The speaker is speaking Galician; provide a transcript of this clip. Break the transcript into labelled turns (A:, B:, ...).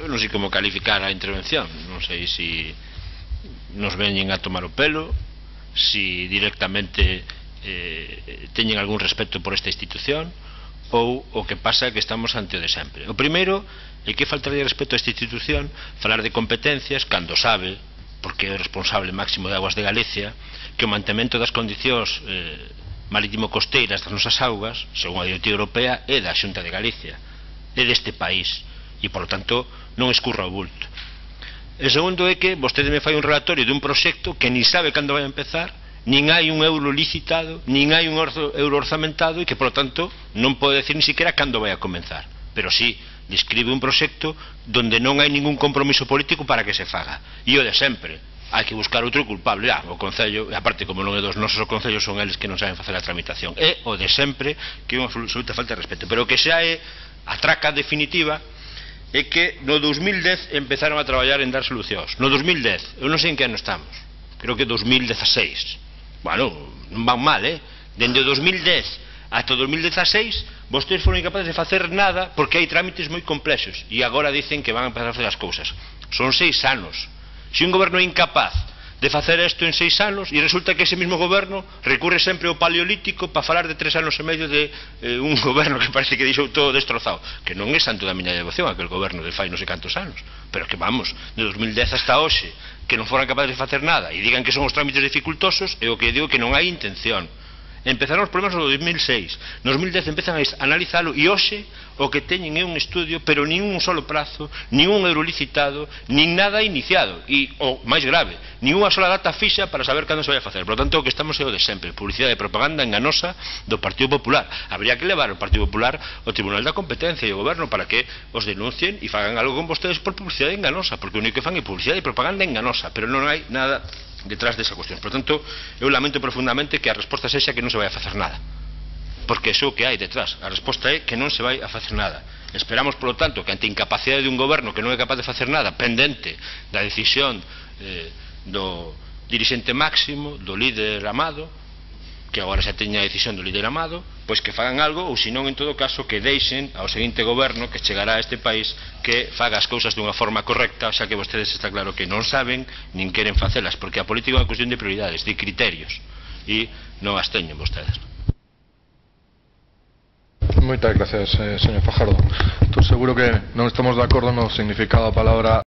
A: eu non sei como calificar a intervención, non sei se nos veñen a tomar o pelo, se directamente teñen algún respeto por esta institución, ou o que pasa é que estamos ante o de sempre. O primeiro é que falta de respeto a esta institución falar de competencias cando sabe, porque é o responsable máximo de Aguas de Galicia, que o mantemento das condicións marítimo-costeiras das nosas augas, según a Directiva Europea, é da Xunta de Galicia, é deste país, e, por lo tanto, non escurra o bulto. E segundo é que vostede me fai un relatorio de un proxecto que nin sabe cando vai a empezar, nin hai un euro licitado, nin hai un euro orzamentado, e que, por lo tanto, non pode decir ni siquiera cando vai a comenzar. Pero sí, describe un proxecto donde non hai ningún compromiso político para que se faga. E o de sempre, hai que buscar outro culpable. O Concello, e aparte, como non é dos nosos, o Concello son eles que non saben facer a tramitación. É o de sempre, que é unha absoluta falta de respeto. Pero o que xa é a traca definitiva é que no 2010 empezaron a traballar en dar solucións. No 2010, eu non sei en que ano estamos, creo que 2016. Bueno, non van mal, Dende o 2010 ata o 2016 vostedes foron incapaces de facer nada porque hai trámites moi complexos e agora dicen que van a empezar a facer as cousas. Son 6 anos. Se un goberno é incapaz de facer isto en 6 anos e resulta que ese mesmo goberno recurre sempre ao paleolítico para falar de 3 anos e medio de un goberno que parece que deixou todo destrozado, que non é santo da miña devoción aquel goberno de fai non sei cantos anos, pero que vamos, de 2010 hasta hoxe que non foran capaces de facer nada e digan que son os trámites dificultosos, é o que digo que non hai intención. Empezaron os problemas no 2006, no 2010 empezan a analizalo e hoxe o que teñen é un estudio, pero nin un solo prazo, nin un euro licitado, nin nada iniciado e, o máis grave, nin unha sola data fixa para saber cando se vai a facer. Por lo tanto, o que estamos é o de sempre, publicidade e propaganda enganosa do Partido Popular. Habría que levar o Partido Popular ao Tribunal da Competencia e ao Goberno para que os denuncien e fagan algo con vostedes por publicidade enganosa, porque o único que fan é publicidade e propaganda enganosa, pero non hai nada detrás desa cuestión. Por tanto, eu lamento profundamente que a resposta sexa que non se vai a facer nada, porque iso que hai detrás. A resposta é que non se vai a facer nada. Esperamos, por lo tanto, que ante a incapacidade de un goberno que non é capaz de facer nada, pendente da decisión do dirixente máximo, do líder Amado, que agora xa teña a decisión do líder Amado, pois que fagan algo, ou senón, en todo caso, que deixen ao seguinte goberno que chegará a este país que faga as cousas dunha forma correcta, xa que vostedes está claro que non saben nin queren facelas, porque a política é unha cuestión de prioridades, de criterios, e non as teñen vostedes.
B: Moitas gracias, señor Fajardo. Estou seguro que non estamos de acordo no significado da palabra